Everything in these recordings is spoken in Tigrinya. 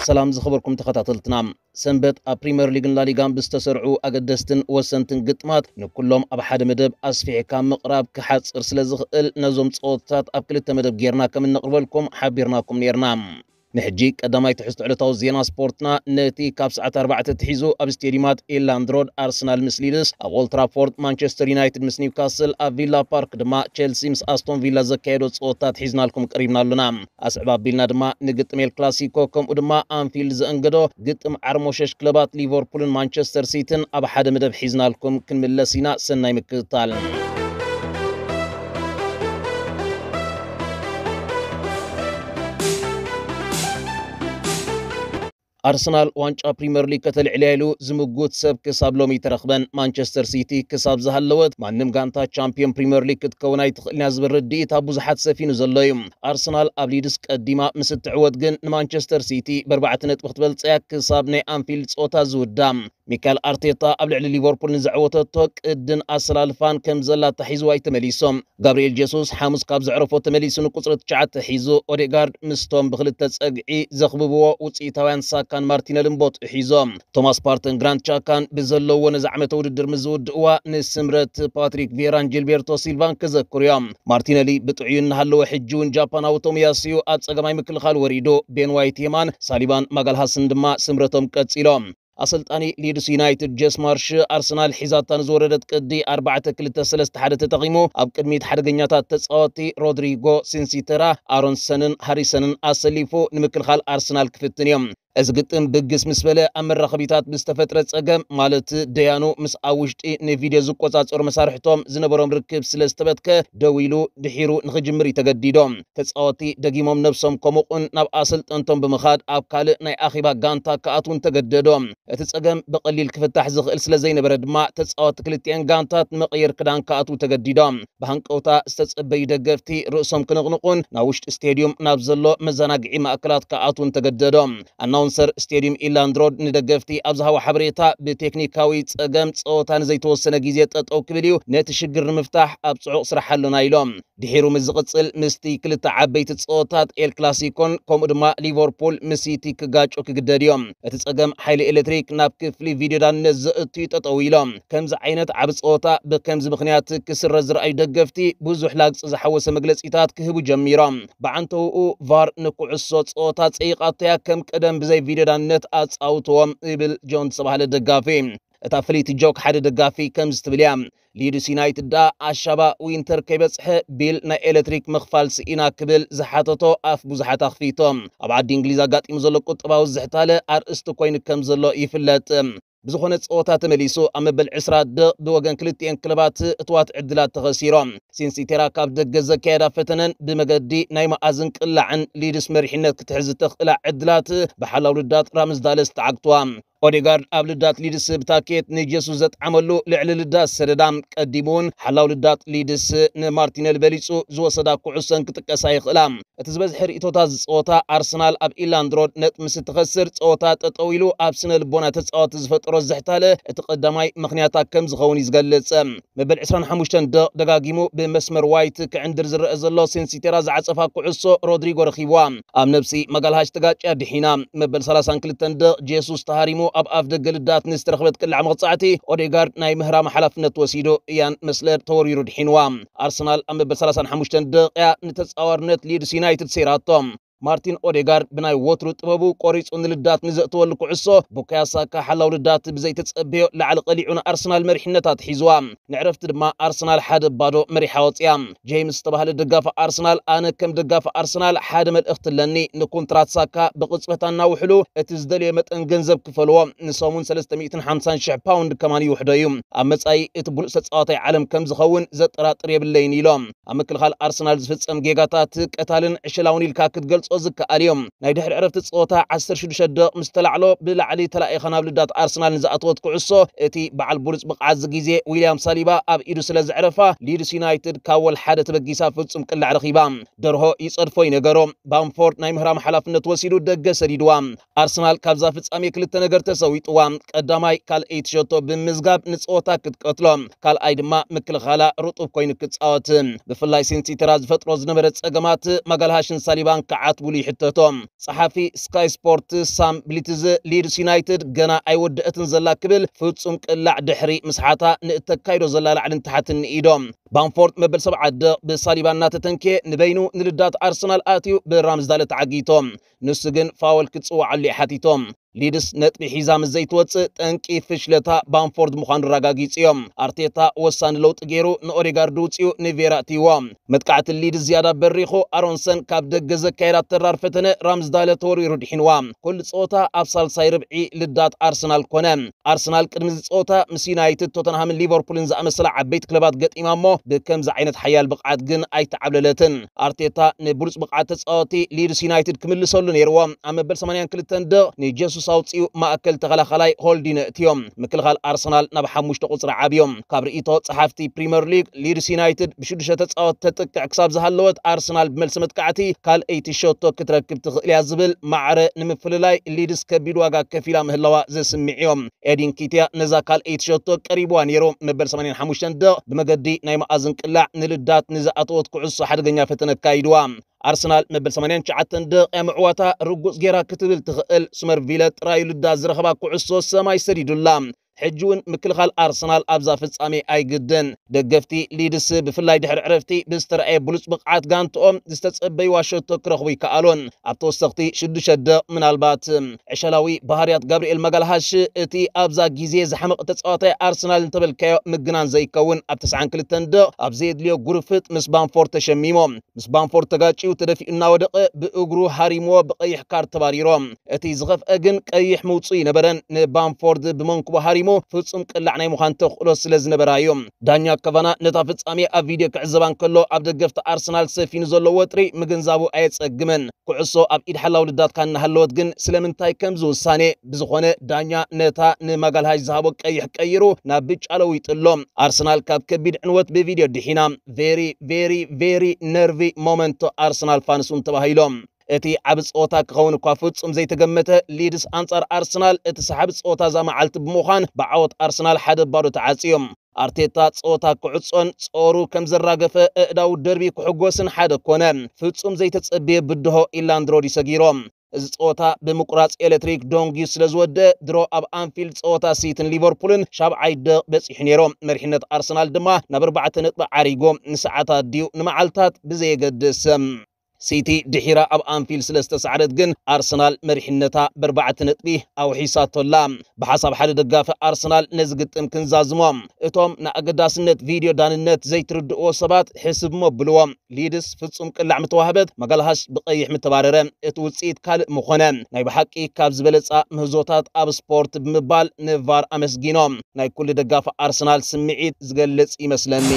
ሰላም ዝኸበርኩም ተኸታተልትና። ሰንበት ኣብ ፕሪምየር ሊግን ላሊጋን ብዝተሰርዑ ኣገደስትን ወሰንትን ግጥማት ንኩሎም ኣብ ሓደ መደብ ኣስፊሕካ ምቕራብ ክሓጽር ስለ ዝኽእል፣ ነዞም ጸወታታት ኣብ ክልተ መደብ ጌርና ከም እነቕርበልኩም ሓቢርናኩም ኔርና። ንሕጂ ቀዳማይ ትሕዝቶ ዕለታዊ ዜና ስፖርትና፣ ነቲ ካብ ሰዓት ኣርባዕተ ትሒዙ ኣብ ስቴዲየማት ኤላንድ ሮድ ኣርሰናል ምስ ሊድስ፣ ኣብ ኦልትራፎርድ ማንቸስተር ዩናይትድ ምስ ኒውካስል፣ ኣብ ቪላ ፓርክ ድማ ቸልሲ ምስ ኣስቶን ቪላ ዘካየዶ ጸወታታት ሒዝናልኩም ቀሪብና ኣሎና። ኣስዕብ ኣቢልና ድማ ንግጥም ኤል ክላሲኮ፣ ከምኡ ድማ ኣንፊልድ ዘእንገዶ ግጥም ዓርሞሸሽ ክለባት ሊቨርፑልን ማንቸስተር ሲቲን ኣብ ሓደ መደብ ሒዝናልኩም ክንምለስ ኢና። ሰናይ ምክትታል። ኣርሰናል ዋንጫ ፕሪምየር ሊግ ከተልዕልያ ኢሉ ዝምጉት ሰብ ክሳብ ሎሚ ኣይተረኽበን። ማንቸስተር ሲቲ ክሳብ ዝሃለወት ማንም ጋንታ ቻምፒዮን ፕሪምየር ሊግ ክትከውን ኣይትኽእልን እያ ዝብል ርድኢት ኣብ ብዙሓት ሰፊኑ ዘሎ እዩ። ኣርሰናል ኣብ ሊድስ ቀዲማ ምስ እትዕወት ግን ንማንቸስተር ሲቲ ብኣርባዕተ ነጥቢ ክትበልጻ እያ ክሳብ ናይ ኣንፊልድ ጸወታ ዝውዳ። ሚካኤል ኣርቴታ ኣብ ልዕሊ ሊቨርፑል ንዘዕወተቶ ቅድን ኣሰላልፋን ከም ዘላ ኣታሒዝዋ እዩ ተመሊሱ። ጋብርኤል ጀሱስ ሓሙስ ካብ ዘዕረፎ ተመሊሱ ንቁጽሪ ትሽዓተ ሒዙ፣ ኦዴጋርድ ምስቶም ብክልተ ጸግዒ ዘኽብብዎ ውጽኢታውያን ሳካን ማርቲነልን ቦትኡ ሒዞም። ቶማስ ፓርተን ግራንት ቻካን ብዘለውዎ ነዚ ዓመተ ውድድር ምስ ዝውድእዋ፣ ንስምረት ፓትሪክ ቪየራን ጂልቤርቶ ሲልቫን ክዘክሩ እዮም። ማርቲነሊ ብጥዑዩ እናሃለወ፣ ሕጂ እውን ጃፓናዊ ቶሚያስዩ ኣብ ጸገማይ ምክልኻል ወሪዱ፣ ቤን ዋይት የማን፣ ሳሊባን ማጋልሃስን ድማ ስምረቶም ቀጺሎም። ኣሰልጣኒ ሊድስ ዩናይትድ ጄስ ማርሽ፣ ኣርሰናል ሒዛታ ንዝወረደት ቅዲ ኣርባዕተ ክልተ ሰለስተ ሓደ ተጠቒሙ፣ ኣብ ቅድሚት ሓደገኛታት ተጻወቲ ሮድሪጎ፣ ሲንሲተራ፣ ኣሮንሰንን ሃሪሰንን ኣሰሊፉ ንምክልኻል ኣርሰናል ክፍትን እዩ። እዚ ግጥም ብግስ ምስ በለ፣ ኣብ መራኸቢታት ብዝተፈጥረ ጸገም፣ ማለት ደያኑ ምስ ኣብ ውሽጢ ንቪድዮ ዝቆጻጸሩ መሳርሕቶም ዝነበሮም ርክብ ስለ ዝተበትከ፣ ደው ኢሉ ድሒሩ ንኽጅምር እዩ ተገዲዶ። ተጻወቲ ደጊሞም ነብሶም ከሞቑን ናብ ኣሰልጠንቶም ብምኻድ ኣብ ካልእ ናይ ኣኼባ ጋንታ ክኣትውን ተገደዶ። እቲ ጸገም ብቐሊል ክፍታሕ ዝኽእል ስለ ዘይነበረ ድማ፣ ተጻወቲ ክልቲኤን ጋንታት ንመቐየር ክዳን ክኣትዉ ተገዲዶም። ብሃንቀውታ ዝተጸበዩ ደገፍቲ ርእሶም ክንቕንቑን ናብ ውሽጢ ስቴድዩም ናብ ዘሎ መዘናግዒ ማእከላት ክኣትዉን ተገደዶም። ኣናውንሰር ስቴድዩም ኢላንድ ሮድ ንደገፍቲ ኣብ ዝሃቦ ሓበሬታ፣ ብቴክኒካዊ ጸገም ጸወታ ንዘይተወሰነ ግዜ ጠጠው ክብል እዩ፣ ነቲ ሽግር ንምፍታሕ ኣብ ጽዑቕ ስራሕ ኣሎና ኢሎም። ድሒሩ ምስ ዝቕጽል፣ ምስቲ ክልተ ዓበይቲ ጸወታት ኤል ክላሲኮን ከምኡ ድማ ሊቨርፑል ምስ ሲቲ ክጋጩ ክግደድ እዮም። እቲ ጸገም ሓይሊ ኤሌክትሪክ ናብ ክፍሊ ቪድዮ ዳንነት ዘእቱ እዩ ጠጠው ኢሎም። ከምዚ ዓይነት ዓቢ ጸወታ ብከምዚ ምኽንያት ክስረዝ ዝረኣዩ ደገፍቲ ብዙሕ ላግጺ ዝሓወሰ መግለጺታት ክህቡ ጀሚሮም። ብዓንተውኡ ቫር ንኩዕሶ ጸወታ ጸይቓቶ እያ፣ ከም ቀደም ብዘይ ቪድዮ ዳንነት ኣጻውትዎም ይብል ጆን ዝተባህለ ደጋፊ። እታ ፍልይቲ ጆክ ሓደ ደጋፊ ከምዚ ትብል እያ። ሊድስ ዩናይትድ ደኣ ኣሻባ ዊንተር ከይበጽሐ ቢል ናይ ኤሌክትሪክ ምኽፋል ስኢና ክብል ዝሓተቶ ኣፍ ብዙሓት ኣኽፊቶም። ኣብ ዓዲ እንግሊዝ ኣጋጢሙ ዘሎ ቁጠባዊ ዝሕታለ ኣርእስቲ ኮይኑ ከም ዘሎ ይፍለጥ። ብዝኾነ ጸወታ ተመሊሱ ኣብ መበል ዕስራ ደቕ ብወገን ክልቲኤን ክለባት እትዋት ዕድላት ተኸሲሮም። ሲንሲቴራ ካብ ደገ ዘካየዳ ፈተነን ብመገዲ ናይ መኣዝን ቅላዕን ሊድስ መሪሕነት ክትሕዝ እተኽእላ ዕድላት ብሓላው ልዳት ራምስዳለ ዝተዓግትዋ። ኦዴጋርድ ኣብ ልዳት ሊድስ ብታኬት ንጀሱስ ዘጥዓመሉ ልዕሊ ልዳት ሰደዳ። ቀዲሙ እውን ሓላው ልዳት ሊድስ ንማርቲነሊ በሊጹ ዝወሰዳ ኩዕሶን ክጥቀሳ ይኽእላ። እቲ ዝበዝሐ ርእይቶታት ዝጸወታ ኣርሰናል ኣብ ኢላንድ ሮድ ነጥቢ ምስ እትኸስር ጸወታ ጠጠው ኢሉ ኣብ ስነ ልቦና ተጻወቲ ዝፈጠሮ ዝሕታለ እቲ ቀዳማይ ምኽንያታ ከም ዝኸውን እዩ ዝገልጽ። መበል ዕስራን ሓሙሽተን ደቕ ደጋጊሙ ብመስመር ዋይት ክዕንድር ዝረአ ዘሎ ሲንሲቴራ ዝዓጸፋ ኩዕሶ ሮድሪጎ ረኺብዋ። ኣብ ነብሲ ማጋልሃሽ ተጋጭያ ድሒና። መበል ሰላሳን ክልተን ደቕ ጄሱስ ተሃሪሙ ኣብ ኣፍ ደገ ልዳት ንዝተረኽበት ቅላዕ መቕጻዕቲ ኦዴጋርድ ናይ ምህራም ሓላፍነት ወሲዱ እያን መስለር ተወሪሩ ድሒንዋ። ኣርሰናል ኣብ መበል ሰላሳን ሓሙሽተን ደቂያ ንተጻዋርነት ሊድስ ዩናይትድ ሰይራቶ። ማርቲን ኦዴጋርድ ብናይ ወትሩ ጥበቡ ቆሪጹ ንልዳት ንዘእተወሉ ኩዕሶ፣ ቡካዮ ሳካ ሓላው ልዳት ብዘይተጸበዮ ላዕሊ ቀሊዑ ንኣርሰናል መሪሕነት ኣትሒዝዋ። ንዕረፍቲ ድማ ኣርሰናል ሓደ ባዶ መሪሓ ወጽያ። ጄምስ ዝተባህለ ደጋፊ ኣርሰናል፣ ኣነ ከም ደጋፊ ኣርሰናል ሓደ መልእኽቲ ኣለኒ። ንኮንትራት ሳካ ብቕጽበት ኣናውሕሉ፣ እቲ ዝደልዮ መጠን ገንዘብ ክፈልዎ። ንሰሙን ሰለስተ ሚእትን ሓምሳን ሽሕ ፓውንድ ከማን ይውሕዶ እዩ። ኣብ መጻኢ እቲ ብሉጽ ተጻዋታይ ዓለም ከም ዝኸውን ዘጠራጥር የብለይን ኢሎም። ኣብ ምክልኻል ኣርሰናል ዝፍጸም ጌጋታት ቀታልን ዕሸላውን ኢልካ ክትገልጾ ዝከኣል እዩ። ናይ ድሕሪ ዕረፍቲ ጸወታ ዓሰርተ ሽዱሽተ ደቕ ምስ ተላዕሎ ብላዕሊ ተላኢኻ ናብ ልዳት ኣርሰናል ንዝኣተወት ኩዕሶ እቲ በዓል ብሉጽ ብቕዓት እዚ ግዜ ዊልያም ሳሊባ ኣብ ኢዱ ስለ ዘዕረፋ ሊድስ ዩናይትድ ካብ ወል ሓደ ተበጊሳ ፍጹም ቅላዕ ረኺባ። ደርሆ ይጸድፎ ይነገሮ። ባምፎርድ ናይ ምህራም ሓላፍነት ወሲዱ ደገ ሰዲድዋ። ኣርሰናል ካብዛ ፍጻሜ ክልተ ነገር ተሰዊጥዋ። ቀዳማይ ካልኣይቲ ሸቶ ብምዝጋብ ንጸወታ ክትቀትሎ፣ ካልኣይ ድማ ምክልኻላ ርጡብ ኮይኑ ክጻወት። ብፍላይ ሲንሲተራ ዝፈጥሮ ዝነበረ ጸገማት ማጋልሃሽን ሳሊባን ክዓት ክብሉ ይሕተቶ። ጸሓፊ ስካይ ስፖርት ሳም ብሊትዝ፣ ሊድስ ዩናይትድ ገና ኣይወደአትን ዘላ ክብል ፍጹም ቅላዕ ድሕሪ ምስሓታ ንእተካይዶ ዘላ ላዕልን ታሕትን ንኢዶ። ባምፎርድ መበል ሰብዓ ደቕ ብሳሊባ እናተተንክየ ንበይኑ ንልዳት ኣርሰናል ኣትዩ ብራምዝዳለ ተዓጊቶ። ንሱ ግን ፋወል ክትጽውዓሉ እዩ ሓቲቶ። ሊድስ ነጥቢ ሒዛ ምስ ዘይትወጽእ ጠንቂ ፍሽለታ ባምፎርድ ምዃኑ ኣረጋጊጹ እዮም። ኣርቴታ ወሳኒ ለውጢ ገይሩ ንኦዴጋርድ ውጽኡ ንቬራ እትይዎ። መጥቃዕቲ ሊድስ ዝያዳ በሪኹ፣ ኣሮንሰን ካብ ደገ ዘካየዳ ተራር ፈተነ ራምዝዳለ ተወርዊሩ ድሒንዋ። ኩሉ ጸወታ ኣብ ሳልሳይ ርብዒ ልዳት ኣርሰናል ኮነ። ኣርሰናል ቅድሚ እዚ ጸወታ ምስ ዩናይትድ፣ ቶተንሃምን ሊቨርፑልን ዝኣመሰላ ዓበይቲ ክለባት ገጢማ እሞ ብከምዚ ዓይነት ሓያል ብቕዓት ግን ኣይተዓብለለትን። ኣርቴታ ንብሉጽ ብቕዓት ተጻወቲ ሊድስ ዩናይትድ ክምልሰሉ ነይርዎ። ኣብ መበል ሰማንያን ክልተን ደቕ ንጀሱስ ኣውጺኡ ማእከል ተኸላኻላይ ሆልዲን እትዮም። ምክልኻል ኣርሰናል ናብ ሓሙሽተ ቁጽሪ ዓብዮም። ካብ ርእይቶ ጸሓፍቲ ፕሪምየር ሊግ፣ ሊድስ ዩናይትድ ብሽዱሽተ ተጻወቲ ተጥቅዕ ክሳብ ዝሃለወት፣ ኣርሰናል ብመልሲ መጥቃዕቲ ካልኣይቲ ሸቶ ክትረክብ ትኽእል እያ ዝብል ማዕረ ንምፍልላይ ሊድስ ከቢድ ዋጋ ከፊላ ምህላዋ ዘስምዕ እዮም። ኤዲን ኪትያ ነዛ ካልኣይቲ ሸቶ ቀሪብዋ ነይሩ። መበል ሰማንያን ሓሙሽተን ደቕ ብመገዲ ናይ መኣዝን ቅላዕ ንልዳት ንዝኣተወት ኩዕሶ ሓደገኛ ፈተነ ኣካይድዋ። ኣርሰናል መበል ሰማንያን ትሽዓተን ደቂቕ ምዕዋታ ርጉጽ ጌራ ክትብል ትኽእል። ሱመርቪለ ጥራዩ ልዳት ዝረኸባ ኩዕሶ ሰማይ ሰዲዱላ። ሕጂ እውን ምክልኻል ኣርሰናል ኣብዛ ፍጻሜ ኣይግድን። ደገፍቲ ሊድስ ብፍላይ ድሕሪ ዕረፍቲ ብዝተረኣየ ብሉጽ ብቕዓት ጋንትኦም ዝተጸበይዋ ሸቶ ክረኽቡ ይከኣሉን። ኣብ ተወሰኽቲ ሽዱሽተ ደቕ ምናልባት ዕሸላዊ ባህርያት ጋብርኤል ማጋልሃሽ እቲ ኣብዛ ግዜ ዝሓመቐ ተጻዋታይ ኣርሰናል እንተበልካዮ ምግናን ዘይከውን። ኣብ ተስዓን ክልተን ደቕ ኣብ ዘየድልዮ ጉርፍጥ ምስ ባምፎርድ ተሸሚሞ። ምስ ባምፎርድ ተጋጭዩ ተደፊኡ እናወደቐ ብእግሩ ሃሪምዎ ብቐይሕ ካርድ ተባሪሮ። እቲ ዝኸፍአ ግን ቀይሕ ምውጽኡ ይነበረን። ንባምፎርድ ብመንኩቡ ሃሪሙ ፍጹም ቅላዕ ናይ ምዃን ተኽእሎ ስለ ዝነበራ እዩ። ዳኛ ካቫና ነታ ፍጻሜ ኣብ ቪድዮ ክዕዘባ እንከሎ ኣብ ደገፍቲ ኣርሰናል ሰፊኑ ዘሎ ወጥሪ ምግንዛቡ ኣየጸግምን። ኩዕሶ ኣብ ኢድ ሓላው ልዳትካ እናሃለወት ግን ስለምንታይ ከምዚ ውሳኔ? ብዝኾነ ዳኛ ነታ ንማጋልሃሽ ዝሃቦ ቀይሕ ቀይሩ ናብ ብጫ ለዊጥሎ። ኣርሰናል ካብ ከቢድ ዕንወት ብቪድዮ ድሒና። ቬሪ ቬሪ ቬሪ ነርቪ ሞመንቶ ኣርሰናል ፋንስ እውን ተባሂሎም። እቲ ዓቢ ጸወታ ክኸውን እኳ ፍጹም ዘይተገመተ፣ ሊድስ ኣንጻር ኣርሰናል እቲ ሰሓቢ ጸወታ እዛ መዓልቲ ብምዃን ብዓወት ኣርሰናል ሓደ ባዶ ተዓጽዩ። ኣርቴታ ጸወታ ክዕጾን ጾሩ ከም ዘራገፈ፣ ኣእዳው ደርቢ ክሕጎስን ሓደ ኮነ። ፍጹም ዘይተጸብየ ብድሆ ኢላንድሮዲ ሰጊሮም። እዚ ጸወታ ብምቁራጽ ኤሌክትሪክ ዶንጊ ስለ ዝወደአ፣ ድሮ ኣብ ኣንፊልድ ጸወታ ሲትን ሊቨርፑልን ሻብዓይ ደቕ በጺሑ ነይሩ። መሪሕነት ኣርሰናል ድማ ናብ ኣርባዕተ ነጥቢ ዓሪጉ። ንሰዓታት ድዩ ንመዓልታት ብዘየገድስ። ሲቲ ድሒራ ኣብ ኣንፊልድ ስለ ዝተሳዕረት ግን ኣርሰናል መሪሕነታ ብኣርባዕተ ነጥቢ ኣውሒሳቶላ። ብሓሳብ ሓደ ደጋፊ ኣርሰናል ነዚ ግጥም ክንዛዝሞ። እቶም ንኣገዳስነት ቪድዮ ዳንነት ዘይትርድእዎ ሰባት ሕስብ እሞ ብልዎም። ሊድስ ፍጹም ቅላዕ ምተዋህበት፣ ማጋልሃሽ ብቐይሕ ምተባረረ። እቲ ውጽኢት ካልእ ምኾነ። ናይ ብሓቂ ካብ ዝበለጻ ምህዞታት ኣብ ስፖርት ብምባል ንቫር ኣመስጊኖም። ናይ ኩሉ ደጋፊ ኣርሰናል ስምዒት ዝገልጽ ይመስለኒ።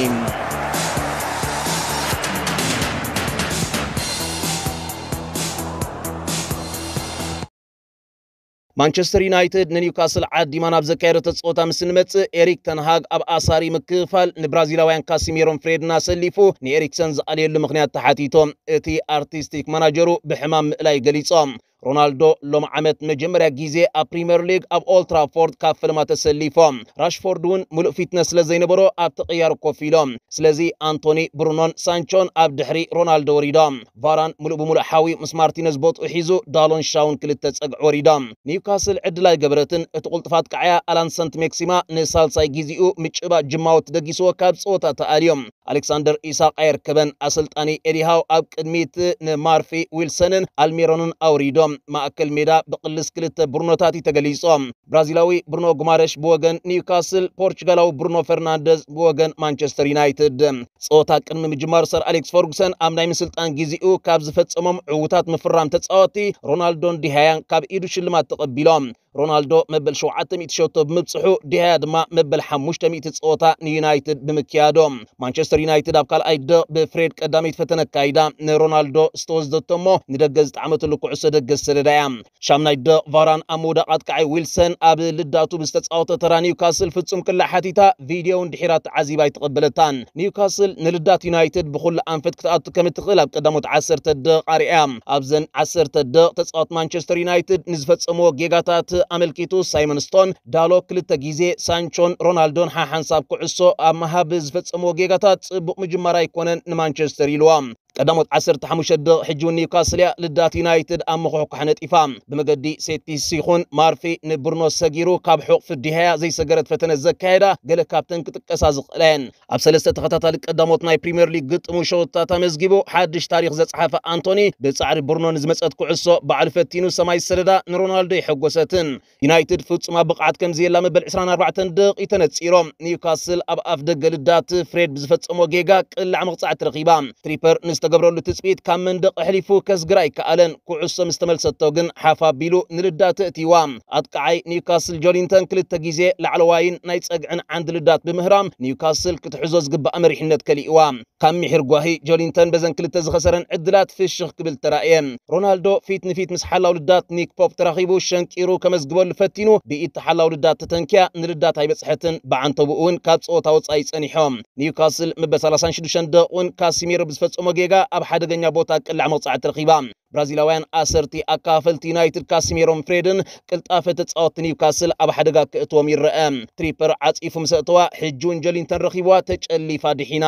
ማንቸስተር ዩናይትድ ንኒውካስል ዓዲማ ናብ ዘካየደቶ ጸወታ ምስ እንመጽእ፣ ኤሪክ ተንሃግ ኣብ ኣሳሪ ምክፍፋል ንብራዚላውያን ካሲሜሮን ፍሬድን ኣሰሊፉ ንኤሪክሰን ዝኣለየሉ ምኽንያት ተሓቲቶ። እቲ ኣርቲስቲክ ማናጀሩ ብሕማም ምእላይ ገሊጾም። ሮናልዶ ሎም ዓመት መጀመርያ ግዜ ኣብ ፕሪምየር ሊግ ኣብ ኦልትራፎርድ ካብ ፈለማ ተሰሊፎም። ራሽፎርድ እውን ምሉእ ፊትነስ ስለ ዘይነበሮ ኣብ ተቐያሪ ኮፍ ኢሎም። ስለዚ ኣንቶኒ፣ ብሩኖን ሳንቾን ኣብ ድሕሪ ሮናልዶ ወሪዶም። ቫራን ምሉእ ብምሉእ ሓዊ ምስ ማርቲነዝ ቦትኡ ሒዙ ዳሎን ሻውን ክልተ ጸግዒ ወሪዶም። ኒውካስል ዕድል ኣይገበረትን። እቲ ቁልጥፍ ኣጥቃዓያ ኣላን ሰንት ሜክሲማ ንሳልሳይ ግዜኡ ምጭባጥ ጅማዎት ደጊስዎ ካብ ጸወታ ተኣልዮም። ኣሌክሳንደር ኢሳቕ ኣየርከበን። ኣሰልጣኒ ኤዲ ሃው ኣብ ቅድሚት ንማርፊ ዊልሰንን ኣልሚሮንን ኣውሪዶም። ማእከል ሜዳ ብቕልስ ክልተ ብሩኖታት እዩ ተገሊጾም። ብራዚላዊ ብሩኖ ጉማረሽ ብወገን ኒውካስል፣ ፖርቹጋላዊ ብሩኖ ፈርናንደዝ ብወገን ማንቸስተር ዩናይትድ። ጸወታ ቅድሚ ምጅማሩ ሰር ኣሌክስ ፈርጉሰን ኣብ ናይ ምስልጣን ግዜኡ ካብ ዝፈጸሞም ዕዉታት ምፍራም ተጻወቲ ሮናልዶን ዲሃያን ካብ ኢዱ ሽልማት ተቐቢሎም። ሮናልዶ መበል ሸውዓተ ሚእቲ ሸቶ ብምብጽሑ፣ ዲሃያ ድማ መበል ሓሙሽተ ሚእቲ ጸወታ ንዩናይትድ ብምክያዶም። ማንቸስተር ዩናይትድ ኣብ ካልኣይ ደቕ ብፍሬድ ቀዳመይቲ ፈተነ ኣካይዳ። ንሮናልዶ ዝተወስደቶ እሞ ንደገ ዝጠዓመትሉ ኩዕሶ ደገ ዝሰደዳ እያ። ሻምናይ ደቕ ቫራን ኣብ ምውዳቕ ኣጥቃዓይ ዊልሰን ኣብ ልዳቱ ብዝተጻወተ ተራ ኒውካስል ፍጹም ቅላዕ ሓቲታ፣ ቪድዮ እውን ድሒራ ተዓዚባ ኣይተቐበለታን። ኒውካስል ንልዳት ዩናይትድ ብኹሉ ኣንፈት ክትኣቱ ከም እትኽእል ኣብ ቀዳሞት ዓሰርተ ደቕ ኣርእያ። ኣብዘን ዓሰርተ ደቕ ተጻወት ማንቸስተር ዩናይትድ ንዝፈጸምዎ ጌጋታት ኣመልኪቱ ሳይመን ስቶን ዳሎ ክልተ ግዜ ሳንቾን ሮናልዶን ሓሓንሳብ ኩዕሶ ኣብ ምሃብ ዝፈጸምዎ ጌጋታት ጽቡቕ ምጅማር ኣይኮነን ንማንቸስተር ኢልዋ። ቀዳሞት ዓሰርተ ሓሙሽተ ደቂቕ ሕጂ እውን ኒውካስል እያ ልዳት ዩናይትድ ኣብ ምኹሕኳሕ ነጢፋ። ብመገዲ ሴት ፒስ ይኹን ማርፊ ንብሩኖ ሰጊሩ ካብ ሕቑፊ ዲሃያ ዘይሰገረት ፈተነ ዘካየዳ ገለ ካብተን ክጥቀሳ ዝኽእላ እየን። ኣብ ሰለስተ ተኸታታሊ ቀዳሞት ናይ ፕሪምየር ሊግ ግጥሙ ሸወታት ኣመዝጊቡ ሓድሽ ታሪኽ ዘጽሓፈ ኣንቶኒ፣ ብጻዕሪ ብሩኖ ንዝመጸት ኩዕሶ ባዕሉ ፈቲኑ ሰማይ ዝሰደዳ ንሮናልዶ የሐጎሰትን። ዩናይትድ ፍጹም ኣብ ብቕዓት ከም ዘየላ መበል ዕስራን ኣርባዕተን ደቂቕ ተነጺሮም። ኒውካስል ኣብ ኣፍ ደገ ልዳት ፍሬድ ብዝፈጸሞ ጌጋ ቅላዕ መቕጻዕቲ ረኺባ። ትሪፐር ንዝተገብረሉ ትጽቢት ካብ መንደቕ ኣሕሊፉ ከስግር ኣይከኣለን። ኩዕሶ ምስ ተመልሰቶ ግን ሓፍ ኣቢሉ ንልዳት እእትይዋ። ኣጥቃዓይ ኒውካስል ጆሊንተን ክልተ ግዜ ላዕለዋይን ናይ ጸግዕን ዓንዲ ልዳት ብምህራም ኒውካስል ክትሕዞ ዝግባእ መሪሕነት ከሊእዋ። ካብ ምሒር ጓሂ ጆሊንተን በዘን ክልተ ዝኸሰረን ዕድላት ፍሽኽ ክብል ተራእየ። ሮናልዶ ፊት ንፊት ምስ ሓላው ልዳት ኒክ ፖፕ ተራኺቡ ሸንቂሩ ከመዝግበሉ ፈቲኑ ብኢድ ተሓላው ልዳት ተተንኪያ ንልዳት ኣይበጽሐትን። ብዓንተቡኡ እውን ካብ ጸወታ ወጻኢ ጸኒሖም። ኒውካስል መበል ሰላሳን ሽዱሽተን ደቂቕ እውን ካሲሜሮ ብዝፈጸሞ ጌጋ ኣብ ሓደገኛ ቦታ ቅላዕ መቕጻዕቲ ረኺባ። ብራዚላውያን ኣሰርቲ ኣካፈልቲ ዩናይትድ ካሲሜሮን ፍሬድን ቅልጣፈ ተጻወትቲ ኒውካስል ኣብ ሓደጋ ክእትዎም ይረአ። ትሪፐር ዓጺፉ ምስ ኣእተዋ ሕጂ እውን ጆሊንተን ረኺብዋ ተጨሊፋ ድሒና።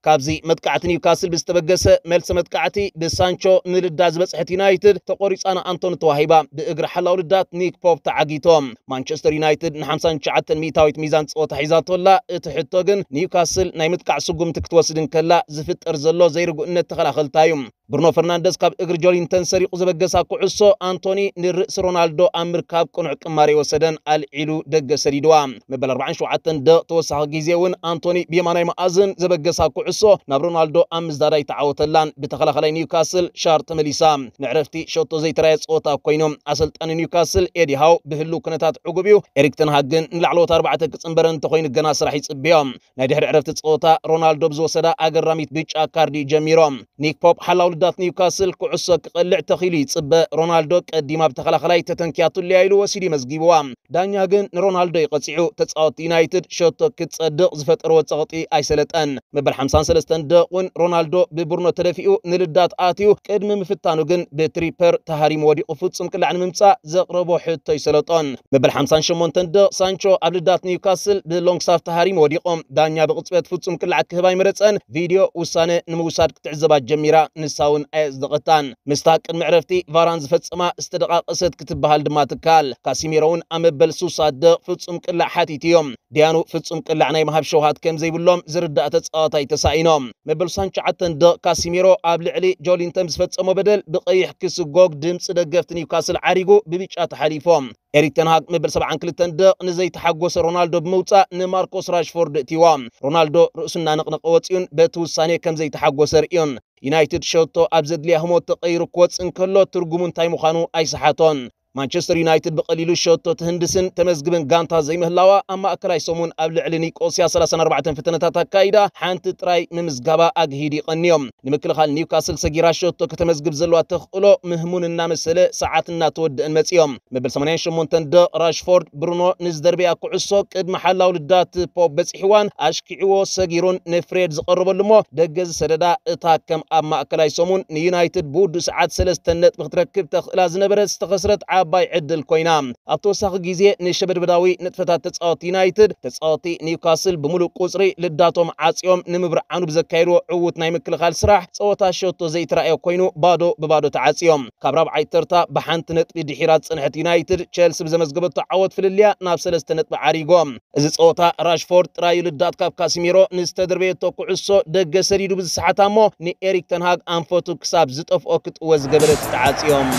ካብዚ መጥቃዕቲ ኒውካስል ብዝተበገሰ መልሲ መጥቃዕቲ ብሳንቾ ንልዳ ዝበጽሐት ዩናይትድ ተቖሪጻ ንኣንቶኒ ተዋሂባ። ብእግሪ ሓላው ልዳት ኒክ ፖፕ ተዓጊቶም። ማንቸስተር ዩናይትድ ን ሓምሳን ትሽዓተን ሚእታዊት ሚዛን ጸወታ ሒዛቶላ። እቲ ሕቶ ግን ኒውካስል ናይ ምጥቃዕ ስጉምቲ ክትወስድ እንከላ ዝፍጠር ዘሎ ዘይርጉእነት ተኸላኸልታ እዩ። ብሩኖ ፈርናንደስ ካብ እግሪ ጆሊንተን ሰሪቑ ዘበገሳ ኩዕሶ ኣንቶኒ ንርእሲ ሮናልዶ ኣብ ምርካብ ቅኑዕ ቅማር የወሰደን ኣልዒሉ ደገ ሰዲድዋ። መበል ኣርባዓን ሸውዓተን ደቕ ተወሳኺ ግዜ እውን ኣንቶኒ ብየማናይ መኣዝን ዘበገሳ ኩዕሶ ናብ ሮናልዶ ኣብ ምዝዳዳ ኣይተዓወተላን። ብተኸላኸላይ ኒውካስል ሻር ተመሊሳ። ንዕረፍቲ ሸቶ ዘይተራየ ጸወታ ኮይኑ ኣሰልጣኒ ኒውካስል ኤዲ ሃው ብህሉ ኩነታት ዕጉብ እዩ። ኤሪክ ተንሃግ ግን ንላዕለዎት ኣርባዕተ ክጽንበረ እንተኾይኑ ገና ስራሕ ይጽብዮ። ናይ ድሕሪ ዕረፍቲ ጸወታ ሮናልዶ ብዝወሰዳ ኣገራሚት ብጫ ካርዲ ጀሚሮም። ኒክ ፖፕ ሓላው ልዳት ኒውካስል ኩዕሶ ክቐልዕ ተኺሉ ይጽበ። ሮናልዶ ቀዲማ ብተኸላኸላይ ተተንኪያቱለያ ኢሉ ወሲዱ መዝጊብዋ። ዳኛ ግን ንሮናልዶ ይቐጺዑ። ተጻወቲ ዩናይትድ ሸቶ ክትጸድቕ ዝፈጠርዎ ጸቕጢ ኣይሰለጠን። መበል ሓምሳን ሰለስተን ደቕ እውን ሮናልዶ ብብሩኖ ተደፊኡ ንልዳት ኣትዩ። ቅድሚ ምፍታኑ ግን ብትሪፐር ተሃሪሙ ወዲቑ ፍጹም ቅላዕ ንምምጻእ ዘቕረቦ ሕቶ ይሰለጦን። መበል ሓምሳን ሸሞንተን ደቕ ሳንቾ ኣብ ልዳት ኒውካስል ብሎንግሳፍ ተሃሪሙ ወዲቑ። ዳኛ ብቕጽበት ፍጹም ቅላዕ ክህብ ኣይመረጸን። ቪድዮ ውሳነ ንምውሳድ ክትዕዘባ ጀሚራ፣ ንሳ እውን ኣየጽደቐታን። ምስታ ቅድሚ ዕረፍቲ ቫራን ዝፈጸማ ዝተደቓቐሰት ክትበሃል ድማ ትከኣል። ካሲሜሮ እውን ኣብ መበል ሱሳ ደቕ ፍጹም ቅላዕ ሓቲቱ እዮም። ዲያኑ ፍጹም ቅላዕ ናይ ምሃብ ሸውሃት ከም ዘይብሎም ዝርዳእ ተጻዋታይ ተሳኢኖም። መበል ሳንቻዓተን ደቕ ካሲሜሮ ኣብ ልዕሊ ጆሊንተን ዝፈጸሞ በደል ብቐይሕ ክስጎግ ድምጺ ደገፍቲ ኒውካስል ዓሪጉ ብብጫ ተሓሊፎም። ኤሪክ ተንሃግ መበል ሰብዓን ክልተን ደቕ ንዘይተሓጎሰ ሮናልዶ ብምውጻእ ንማርኮስ ራሽፎርድ እትይዎ። ሮናልዶ ርእሱ እናነቕነቐ ወጺኡን በቲ ውሳኔ ከም ዘይተሓጎሰ ርእዩን። ዩናይትድ ሸቶ ኣብ ዘድልያ ህሞት ተቐይሩ ክወጽእ እንከሎ ትርጉሙ እንታይ ምዃኑ ኣይሰሓቶን። ማንቸስተር ዩናይትድ ብቐሊሉ ሸቶ ትህንድስን ተመዝግብን ጋንታ ዘይምህላዋ ኣብ ማእከላይ ሰሙን ኣብ ልዕሊ ኒቆስያ ሰላሳን ኣርባዕተን ፍተነታት ኣካይዳ ሓንቲ ጥራይ ምምዝጋባ ኣግሂዱ ይቐንዮም። ንምክልኻል ኒውካስል ሰጊራ ሸቶ ከተመዝግብ ዘለዋ ተኽእሎ ምህሙን እናመሰለ ሰዓት እናተወደአን መጺኦም። መበል ሰማንያን ሸሞንተን ደቕ ራሽፎርድ ብሩኖ ንዝደርበያ ኩዕሶ ቅድሚ ሓላው ልዳት ፖፕ በጺሕዋን ኣሽኪዕዎ ሰጊሩን ንፍሬድ ዝቐርበሉ እሞ ደገ ዝሰደዳ እታ ከም ኣብ ማእከላይ ሰሙን ንዩናይትድ ብውዱእ ሰዓት ሰለስተ ነጥቢ ክትረክብ ተኽእላ ዝነበረት ዝተኸስረት ዓባይ ዕድል ኮይና። ኣብ ተወሳኺ ግዜ ንሸበድበዳዊ ንጥፈታት ተጻወቲ ዩናይትድ ተጻወቲ ኒውካስል ብምሉእ ቁጽሪ ልዳቶም ዓጽዮም ንምብርዓኑ ብዘካየድዎ ዕዉት ናይ ምክልኻል ስራሕ ጸወታ ሸቶ ዘይተራእዮ ኮይኑ ባዶ ብባዶ ተዓጽዮም። ካብ ራብዓይ ተርታ ብሓንቲ ነጥቢ ድሒራ ዝጸንሐት ዩናይትድ ቸልሲ ብዘመዝገበቶ ዓወት ፍልልያ ናብ ሰለስተ ነጥቢ ዓሪጎም። እዚ ጸወታ ራሽፎርድ ጥራዩ ልዳት ካብ ካሲሜሮ ንዝተደርበየቶ ኩዕሶ ደገ ሰዲዱ ብዝሰሓታ እሞ ንኤሪክ ተንሃግ ኣንፈቱ ክሳብ ዝጠፍኦ ክጥወ ዝገበረት ተዓጽዮም።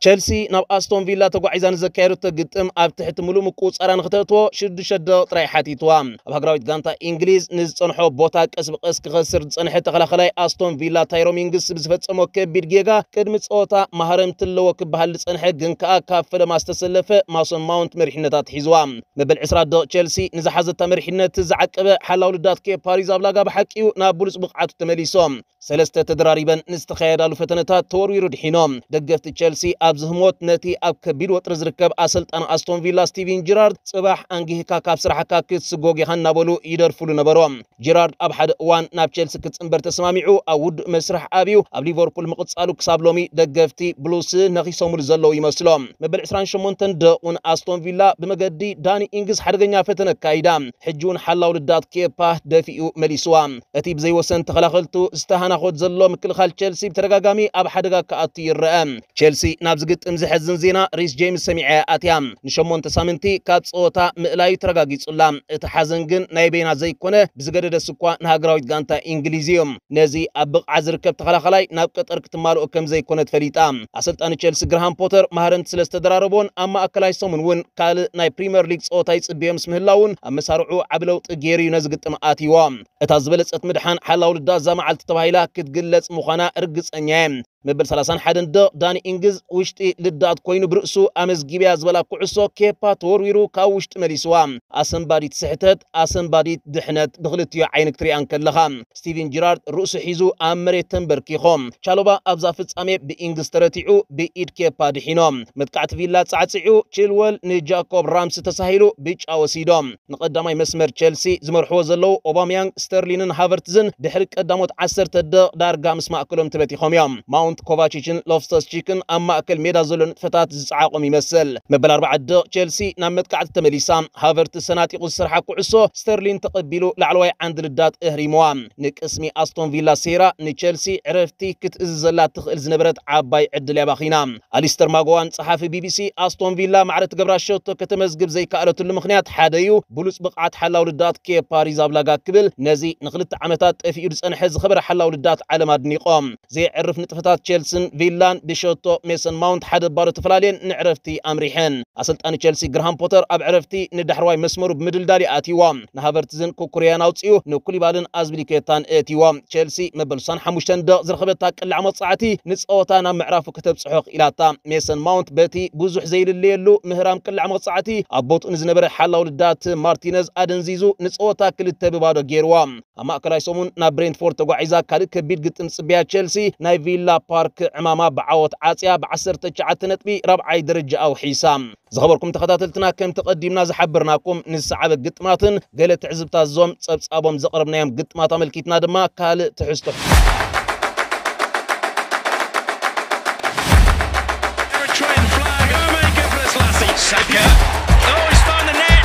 ቸልሲ ናብ ኣስቶን ቪላ ተጓዒዛ ንዘካየደቶ ግጥም ኣብ ትሕቲ ምሉእ ምቁጻራ ንክተእትዎ ሽዱሽተ ደቂቕ ጥራይ ሓቲትዋ። ኣብ ሃገራዊት ጋንታ እንግሊዝ ንዝጸንሖ ቦታ ቀስ ብቀስ ክኸስር ዝጸንሐ ተኸላኸላይ ኣስቶን ቪላ ታይሮ ሚንግስ ብዝፈጸሞ ከቢድ ጌጋ ቅድሚ ጸወታ ማህረምቲ ኣለዎ ክበሃል ዝጸንሐ ግን ከኣ ካብ ፈለማ ዝተሰለፈ ማሶን ማውንት መሪሕነታ ኣትሒዝዋ። መበል ዕስራ ደቕ ቸልሲ ንዝሓዘታ መሪሕነት ዝዓቀበ ሓላው ልዳት ኬፓ ኣሪዛብላጋ ብሓቂኡ ናብ ብሉጽ ብቕዓቱ ተመሊሶ። ሰለስተ ተደራሪበን ንዝተኻየዳሉ ፈተነታት ተወርዊሩ ድሒኖም። ደገፍቲ ቸልሲ ኣብዚ ህሞት ነቲ ኣብ ከቢድ ወጥሪ ዝርከብ ኣሰልጣኒ ኣስቶን ቪላ ስቲቨን ጀራርድ፣ "ጽባሕ ኣንጊህካ ካብ ስራሕካ ክትስጎግ ኢኻ" እናበሉ ይደርፍሉ ነበሩ። ጀራርድ ኣብ ሓደ እዋን ናብ ቸልሲ ክጽንበር ተሰማሚዑ ኣብ ውዱእ መስርሕ ኣብዩ ኣብ ሊቨርፑል ምቕጻሉ ክሳብ ሎሚ ደገፍቲ ብሉስ ነኺሶምሉ ዘለዉ ይመስሎ። መበል ዕስራን ሸሞንተን ደቑን ኣስቶን ቪላ ብመገዲ ዳኒ ኢንግስ ሓደገኛ ፈተነ ኣካይዳ። ሕጂ እውን ሓላው ልዳት ኬፓ ደፊኡ መሊስዋ። እቲ ብዘይወሰን ተኸላኸልቱ ዝተሃናኾት ዘሎ ምክልኻል ቸልሲ ብተደጋጋሚ ኣብ ሓደጋ ክኣቱ ይረአ። ቸልሲ ናብ ዝግጥም ዘሕዝን ዜና ሪስ ጄምስ ሰሚዐ ኣትያ። ንሸሞንተ ሳምንቲ ካብ ጸወታ ምእላዩ ተረጋጊጹላ። እቲ ሓዘን ግን ናይ በይና ዘይኮነ፣ ብዝገደደስ እኳ ንሃገራዊት ጋንታ እንግሊዝ እዩ። ነዚ ኣብ ብቕዓት ዝርከብ ተኸላኸላይ ናብ ቀጠር ክትማልኦ ከም ዘይኮነ ተፈሊጣ። ኣሰልጣኒ ቸልሲ ግራሃም ፖተር ማህረምቲ ስለ ዝተደራረቦን ኣብ ማእከላይ ሰሙን እውን ካልእ ናይ ፕሪምየር ሊግ ጸወታ ይጽብዮ ምስ ምህላውን ኣብ መሳርዑ ዓቢ ለውጢ ገይሩ እዩ ነዚ ግጥም ኣትይዎ። እታ ዝበለጸት ምድሓን ሓላው ልዳት እዛ መዓልቲ ተባሂላ ክትግለጽ ምዃና ርግጸኛ እየ። መበል ሰላሳን ሓደን ደቕ ዳኒ ኢንግዝ ውሽጢ ልዳት ኮይኑ ብርእሱ ኣመዝጊብያ ዝበላ ኩዕሶ ኬፓ ተወርዊሩ ካብ ውሽጢ መሊስዋ። ኣሰንባዲት ስሕተት፣ ኣሰንባዲት ድሕነት ብክልቲኡ ዓይኒ ክትሪኣ እንከለኻ። ስቲቨን ጂራርድ ርእሱ ሒዙ ኣብ መሬት ተንበርኪኾ። ቻሎባ ኣብዛ ፍጻሜ ብኢንግዝ ተረቲዑ ብኢድ ኬፓ ድሒኖ። መጥቃዕቲ ቪላ ጻዕጺዑ ቺልወል ንጃኮብ ራምሲ ተሳሂሉ ብጫ ወሲዶ። ንቐዳማይ መስመር ቸልሲ ዝመርሕዎ ዘለዉ ኦባምያንግ፣ ስተርሊንን ሃቨርትዝን ድሕሪ ቀዳሞት ዓሰርተ ደቕ ዳርጋ ምስ ማእከሎም ተበቲኾም እዮም። ማውንት፣ ኮቫቺችን ሎፍተስ ቺክን ኣብ ማእከል ሜዳ ዘሎ ንጥፈታት ዝጸዓቖም ይመስል። መበል ኣርባዓ ደቕ ቸልሲ ናብ መጥቃዕቲ ተመሊሳ። ሃቨርትዝ ሰናጢቑ ዝሰርሓ ኩዕሶ ስተርሊን ተቐቢሉ ላዕለዋይ ዓንዲ ልዳት እህሪምዋ። ንቅስሚ ኣስቶን ቪላ ሴራ ንቸልሲ ዕረፍቲ ክትእዝዘላ ትኽእል ዝነበረት ዓባይ ዕድል እያ ባኺና። ኣሊስተር ማጎዋን ጸሓፊ ቢቢሲ፣ ኣስቶን ቪላ ማዕረ ትገብራ ሸቶ ከተመዝግብ ዘይከኣለትሉ ምኽንያት ሓደ እዩ፣ ብሉጽ ብቕዓት ሓላው ልዳት ኬፓ ሪዛብላጋ ክብል ነዚ ንኽልተ ዓመታት ጠፊኡ ዝጸንሐ ዝኸበረ ሓላው ልዳት ዓለም ኣድኒቖም። ዘየዕርፍ ንጥፈታት ቸልስን ቪላን ብሸቶ ሜሰን ማውንት ሓደ ባዶ ተፈላለየን ንዕረፍቲ ኣምሪሐን። ኣሰልጣኒ ቸልሲ ግራሃም ፖተር ኣብ ዕረፍቲ ንዳሕረዋይ መስመሩ ብምድልዳል እዩ ኣትይዎ። ንሃቨርትዝን ኩኩርያን ኣውጺኡ ንኩሊባልን ኣዝፒሊኩዌታን እእትይዎ። ቸልሲ መበል ስሳን ሓሙሽተን ደቕ ዝረኸበታ ቅላዕ መቕጻዕቲ ንጸወታ ናብ ምዕራፉ ከተብጽሖ ክኢላታ። ሜሰን ማውንት በቲ ብዙሕ ዘይልለየሉ ምህራም ቅላዕ መቕጻዕቲ ኣብ ቦትኡ ንዝነበረ ሓላው ልዳት ማርቲነዝ ኣደንዚዙ ንጸወታ ክልተ ብባዶ ገይርዋ። ኣብ ማእከላይ ሰሙን ናብ ብሬንትፎርድ ተጓዒዛ ካልእ ከቢድ ግጥም ጽብያ ቸልሲ ናይ ቪላ ፓርክ ዕማማ ብዓወት ዓጽያ ብዓሰርተ ትሽዓተ ነጥቢ ራብዓይ ደረጃ ኣውሒሳ። ዝኸበርኩም ተኸታተልትና፣ ከም ተቐዲምና ዝሓበርናኩም ንዝሰዓበ ግጥማትን ገለ ትዕዝብታት ዞም ጸብጻቦም ዘቕረብናዮም ግጥማት ኣመልኪትና ድማ ካልእ ትሕዝቶ። Eritrean flag. Saka. Oh, he's found the net.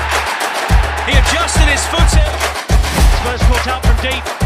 He adjusted his foot. Spurs caught out from deep.